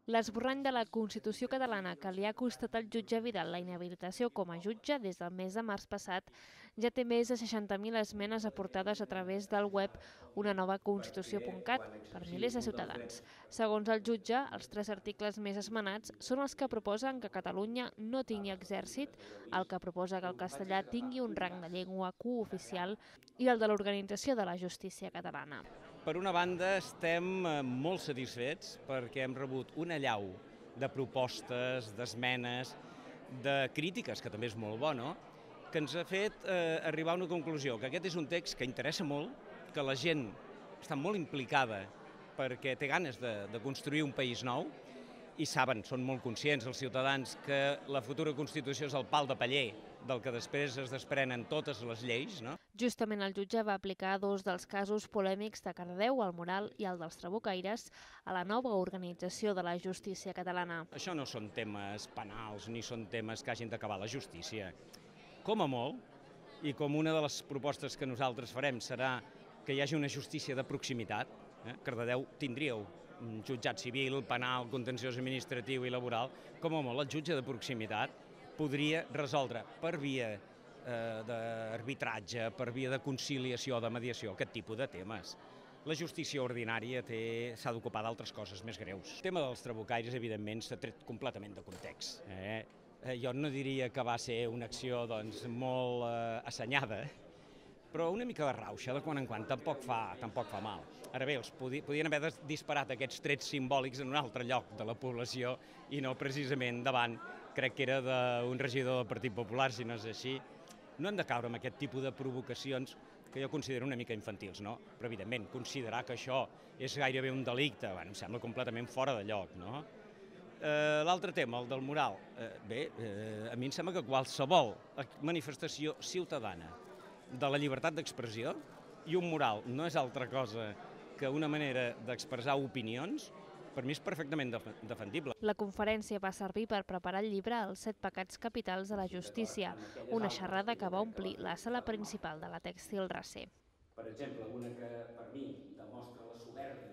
L'esborrany de la Constitució catalana que li ha costat al jutge Vidal la inhabilitació com a jutge des del mes de març passat ja té més de 60.000 esmenes aportades a través del web unanovaconstitució.cat per milers de ciutadans. Segons el jutge, els 3 articles més esmenats són els que proposen que Catalunya no tingui exèrcit, el que proposa que el castellà tingui un rang de llengua cooficial i el de l'organització de la justícia catalana. Per una banda, estem molt satisfets perquè hem rebut una allau de propostes, d'esmenes, de crítiques, que també és molt bo, no?, que ens ha fet arribar a una conclusió, que aquest és un text que interessa molt, que la gent està molt implicada perquè té ganes de construir un país nou i saben, són molt conscients els ciutadans, que la futura Constitució és el pal de paller del que després es desprenen totes les lleis, no? Justament el jutge va aplicar 2 dels casos polèmics de Cardedeu, el Moral i el dels Trabucaires, a la nova organització de la justícia catalana. Això no són temes penals ni són temes que hagin d'acabar la justícia. Com a molt, i com una de les propostes que nosaltres farem serà que hi hagi una justícia de proximitat, Cardedeu tindríeu un jutjat civil, penal, contenciós administratiu i laboral, com a molt el jutge de proximitat podria resoldre per via d'arbitratge, per via de conciliació, de mediació, aquest tipus de temes. La justícia ordinària s'ha d'ocupar d'altres coses més greus. El tema dels trabucaires, evidentment, s'ha tret completament de context. Jo no diria que va ser una acció molt assenyada, però una mica de rauxa de quan en quan tampoc fa mal. Ara bé, els podien haver disparat aquests trets simbòlics en un altre lloc de la població i no precisament davant, crec que era d'un regidor del Partit Popular, si no és així. No hem de caure en aquest tipus de provocacions que jo considero una mica infantils, no? Però, evidentment, considerar que això és gairebé un delicte, em sembla completament fora de lloc, no? L'altre tema, el del mural, a mi em sembla que qualsevol manifestació ciutadana de la llibertat d'expressió i un mural no és altra cosa que una manera d'expressar opinions, per mi és perfectament defendible. La conferència va servir per preparar el llibre Els 7 pecats capitals de la justícia, una xerrada que va omplir la sala principal de la Tèxtil Recer. Per exemple, una que per mi demostra la soberba